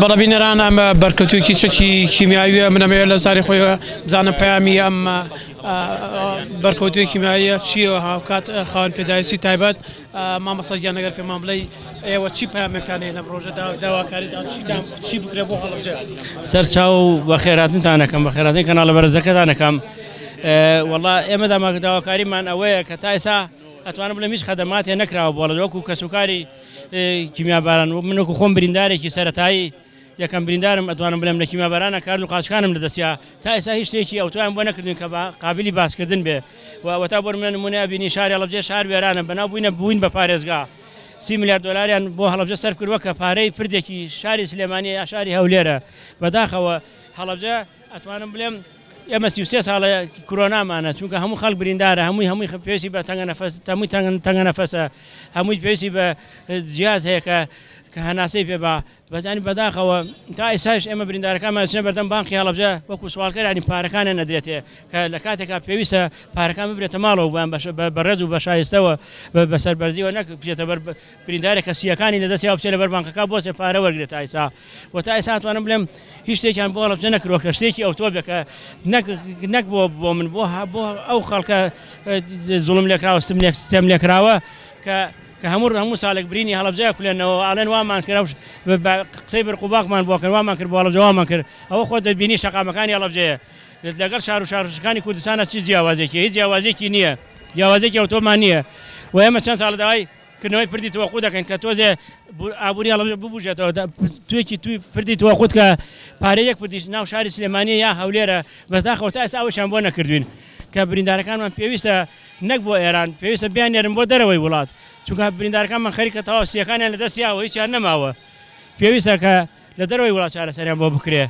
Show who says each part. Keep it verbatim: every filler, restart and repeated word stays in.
Speaker 1: بەڵە بینەران ئەمە بەرکەوتوویەکی چەکی کیمیاویە. من ئەمەوێت لە زاری خۆی بزانم پەیامی ئەم بەرکەوتووی کیمیاویە چییە. هاوکات خاوەن پێداویستی تایبەت مامۆستا گیان ئەگەر پێمان بڵێی ئێوە چی پەیامێکتان هەیە لەم ڕۆژەدا، داواکاریتان چیتان چی بکرێ بۆ هەڵەبجە؟
Speaker 2: سەرچاو بەخێراتنتان ئەکەم، بەخێراتن کەناڵە بەرزەکەتان ئەکەم. وەڵا ئێمە داواکاریمان ئەوەیە کە تا ئێستا ئەتوانم بڵێم هیچ خەدەماتێ نەکراوە بۆ هەڵەبجە وەکو کەسوکاری کیمیاباران. من وەکو خۆم بریندارێکی سەرەتایی یەکەم بریندارم ئەتوانم بڵێم لە کیمیابارانە کارد و قاچکانم لەدەستیا، تا ئێستا هیچ شتێکی ئەوتوان بۆ نەکردین کە قابلی باسکردن بێ. و ئەوەتا بۆ منە نمونە بینی شاری هەڵەبجە شار وێرانە، بەناو بووینە بووین بە پارێزگا. سی میلیارد دلاریان بۆ هەڵەبجە سەرف کردووە کە پارەی پردێکی شاری سلێمانی یا شاری هەولێرە. بەداخەوە هەڵەبجە ئەتوانم بڵێم ئێمە سی و سێ ساڵە کرۆنامانە، چونکە هەموو خەڵک بریندارە، هەمووی هەمووی پێویستی بە تەنگە نەفەس، هەمووی تەنگە نەفەسە، هەمووی پێویستی بە جیاز هەیە کە کە هەناسەی پێ با. بەزانی بەداخەوە تا ئێستاش ئێمە بریندارەکانمان چنە بەردەم بانقی هەڵەبجە وەکو سوالکەر، ینی پارەکانیان نەدرێتێ کە لە کاتێکا پێویستە پارەکان ببرێتە ماڵەوە بۆیان بە ڕێز و بە شایستەوە بە سەربەرزیەوە، نەک بچێتە بەر بریندارێک کە سیەکانی لەدەستیا بچێت لەبەر بانقەکە بۆچێ پارە وەرگێت تا ئێستا. و تا ئێستا ئەتوانم بڵێم هیچ شتێکیان بۆ هەڵەبجە نەکردووە کە شتێکی ئەوتۆ بێ کە نەک بۆ بۆ من، بۆ بۆ ئەو خەڵکە زوڵم لێکراوە، ستەم لێکراوە کە کە هەموو هەموو ساڵێک برینی هەڵەبجەیە کولێنەوە ئاڵێن وامان کرد، قسەی برقوباقمان بۆ کرد، وامان کرد بۆ هەڵەبجە وامان کرد. ئەوە خۆت دەبینی شەقامەکانی هەڵەبجەیە لەگەڵ شار و شارۆچکەکانی کوردستانە چی جیاوازێکی؟ هیچ جیاوازێکی نییە، جیاوازێکی ئەوتۆمان نییە. و ئێمە چەند ساڵە داوای کردنەوەی پردی تەوەقوت دەکەین کە تۆزێ ئابووری هەڵەبجە ببوژێتەوە، توێکی توی پردی تەوەقوت کە پارەی یەک پردیش ناو شاری سلێمانی یا هەولێرە. بەداخەوە تا ئێستا ئەوەشیان بۆ نەکردوین کە بریندارەکانمان پێویستە نەک بۆ ئێران، پێویستە بیاننێرن بۆ دەرەوەی وڵات، چونکە بریندارەکانمان خەریکە تەواو سیەکانیان لەدەستیاوە هیچیان نەماوە، پێویستە کە لە دەرەوەی وڵات چارەسەریان بۆ بکرێ.